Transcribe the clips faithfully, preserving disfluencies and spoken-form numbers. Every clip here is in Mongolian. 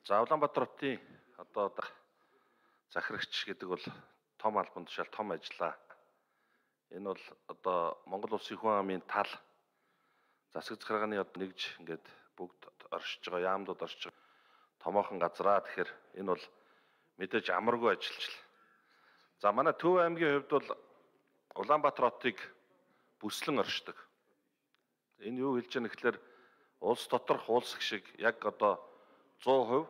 За Улаанбаатар хотын одоо захирагч гэдэг бол том албан тушаал том ажиллаа. Энэ бол одоо Монгол Улсын хүн амын тал засаг захиргааны одоо нэгж ингээд бүгд оршиж байгаа, яамдууд оршиж байгаа томоохон газраа. Тэгэхээр энэ бол мэдээж амаргүй ажиллаж. За манай Төв аймгийн хувьд бол Улаанбаатар хотыг бүслэн оршдог. Энэ юу хэлж байгаа нэхлээр улс доторх уулсах шиг яг одоо сто хувь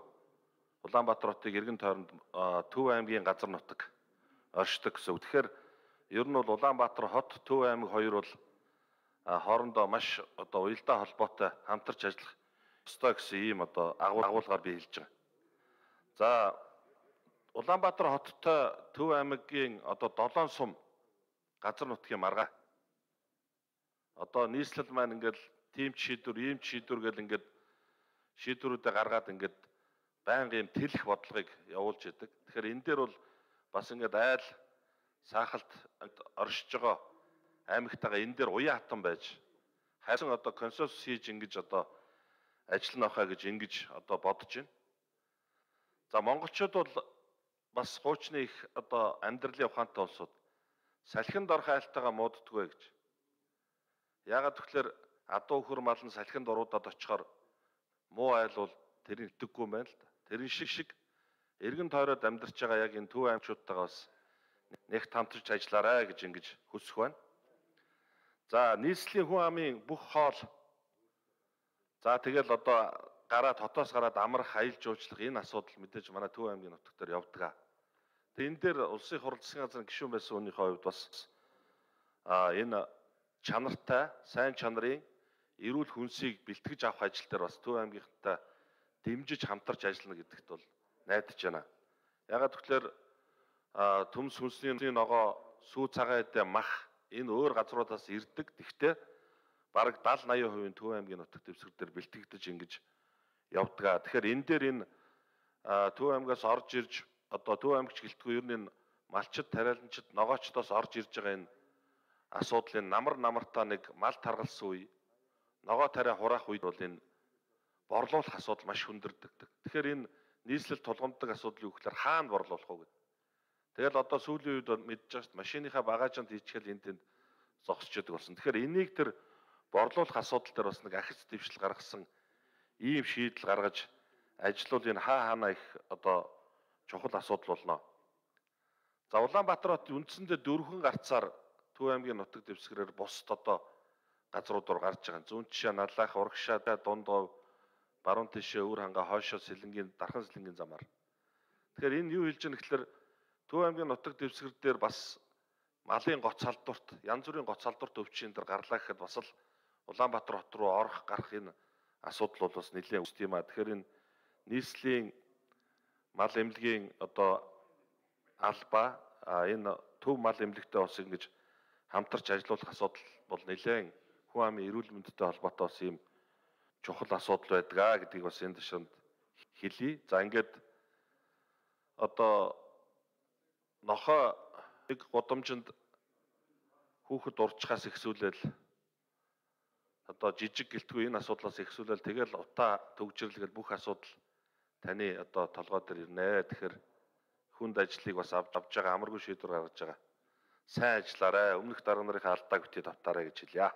Улаанбаатар хотыг эргэн тойронд Төв аймгийн газар нутаг оршдог гэсэн үг. Тэгэхээр ер нь бол Улаанбаатар хот, Төв аймаг хоёр бол хоорондоо маш одоо уялдаа холбоотой хамтарч ажиллах ёстой гэсэн ийм одоо агуулгаар би хэлж байгаа. За Улаанбаатар хоттой Төв аймагийн одоо долоон сум газар нутгийн маргаа. Одоо нийслэл маань ингээл тийм шийдвэр, ийм шийдвэр гэл ингээд шийдвэрүүдээ гаргаад ингээд байнга юм тэлэх бодлогыг явуулж идэг. Тэгэхээр энэ дээр бол бас ингээд айл саахалт оршиж байгаа аймагтайгаа энэ дээр уян хатан байж хайсан одоо консенсус хийж ингэж одоо ажиллана хаа гэж ингэж одоо бодож байна. За монголчууд бол бас хуучны их одоо амьдралын ухаантай улсууд салхинд орох айлтайгаа мууддаггүй гэж. Яагаад тэгэхээр адуу хөр мал нь салхинд оруудаад очихоор муу айл бол тэрийг итгэхгүй юм байна л да. Тэрэн шиг шиг эргэн тойроод амьдарч байгаа яг энэ Төв аймагчуудтайгаа бас нэгт хамтарч ажиллаарай гэж ингэж хүсэх байна. За нийслэлийн хүн амын бүх хоол. За тэгэл одоо гараад хотоос гараад амрах, аялал жуулчлах энэ асуудал мэдээж манай Төв аймгийн нутаг дээр явдаг. Тэгээ энэ дээр улсын хурал засгийн газрын гишүүн байсан хүнийхээ хувьд бас а энэ чанартай, сайн чанарын эрүүл хүнсийг бэлтгэж авах ажил дээр бас Төв аймгийнхтай дэмжиж хамтарч ажиллана гэдэгт бол найдаж байна. Ягаад гэвэл төмс хүнсний ногоо, сүү цагаан эдээ мах энэ өөр газруудаас ирдэг. Тэгвэл бараг даал наяа хувийн Төв аймгийн нутаг дэвсгэр дээр бэлтгэгдэж ингэж явдаг. Тэгэхээр энэ дээр энэ Төв аймгаас орж ирж одоо Төв аймагч гэлтгүй ер нь малчид, тариаланчид, ногоочдоос орж ирж байгаа энэ асуудлын намар намартаа нэг мал таргалсан үе, ногоо тариа хураах үед бол энэ борлуулах асуудал маш хүндэрдэг. Тэгэхээр энэ нийслэл тулгамддаг асуудал юу гэхээр хаана борлуулах вэ гэдэг. Тэгэл одоо сүүлийн үед мэдж байгаа шүү дээ, машиныхаа багажинд хийчихэл энэ тэнд зогсож яадаг болсон. Тэгэхээр энийг тэр борлуулах асуудал дээр бас нэг ахиц дэвшил гаргасан ийм шийдэл гаргаж ажиллавал энэ хаа хаана их одоо чухал асуудал болно. За Улаанбаатар хот үндсэндээ дөрвөн гарцаар Төв аймгийн нутаг дэвсгэрээр бусд одоо газрууд руу гарч байгаа. Зүүн тишээ Наллах, Урагшаа, Дундгов, баруун тишээ Өвөр ханга, хойшоо Сэлэнгийн, Дархан Сэлэнгийн замаар. Тэгэхээр энэ юу хэлж байгаа гэхээр Төв аймгийн нутаг дэвсгэр дээр бас малын гоц халдварт, янз бүрийн гоц халдварт өвчин дээр гарлаа гэхэд бас л Улаанбаатар хот руу орох гарах энэ асуудал бол бас нэлээд өсд юм а. Тэгэхээр энэ нийслэлийн мал эмнэлгийн одоо албаа энэ Төв мал эмнэлэгтэй бас ингэж хамтарч ажиллах асуудал бол нэлээд хүн амын эрүүл мэндтэй холбоотой бас ийм чухал асуудал байдаг гэдгийг бас энэ ташаанд хэлье. За ингээд одоо нохоо нэг гудамжинд хүүхэд урчхаас ихсүүлэл одоо жижиг гэлтгүй энэ асуудлаас ихсүүлэл тэгэл утаа төгжирлгээл бүх асуудал таны одоо толгой дээр ирнэ. Тэгэхээр хүнд ажлыг бас авч авж байгаа амаргүй шийдвэр гаргаж байгаа. Сайн ажиллаарай. Өмнөх дарга нарын алдааг битгий давтаарай гэж хэлье.